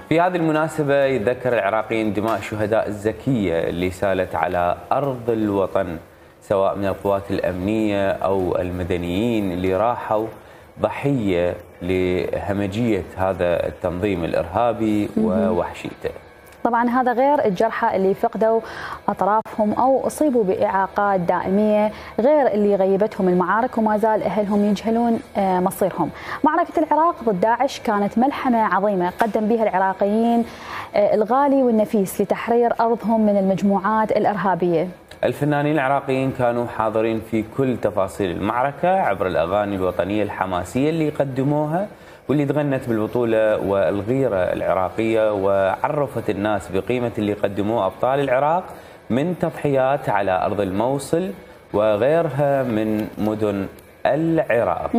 في هذه المناسبة يتذكر العراقيين دماء الشهداء الزكية اللي سالت على أرض الوطن، سواء من القوات الأمنية أو المدنيين اللي راحوا ضحية لهمجية هذا التنظيم الإرهابي ووحشيته. طبعا هذا غير الجرحى اللي فقدوا أطرافهم أو أصيبوا بإعاقات دائمية، غير اللي غيبتهم المعارك وما زال أهلهم يجهلون مصيرهم. معركة العراق ضد داعش كانت ملحمة عظيمة قدم بها العراقيين الغالي والنفيس لتحرير أرضهم من المجموعات الإرهابية. الفنانين العراقيين كانوا حاضرين في كل تفاصيل المعركة عبر الأغاني الوطنية الحماسية اللي قدموها، واللي تغنت بالبطولة والغيرة العراقية، وعرفت الناس بقيمة اللي قدموه أبطال العراق من تضحيات على أرض الموصل وغيرها من مدن العراق.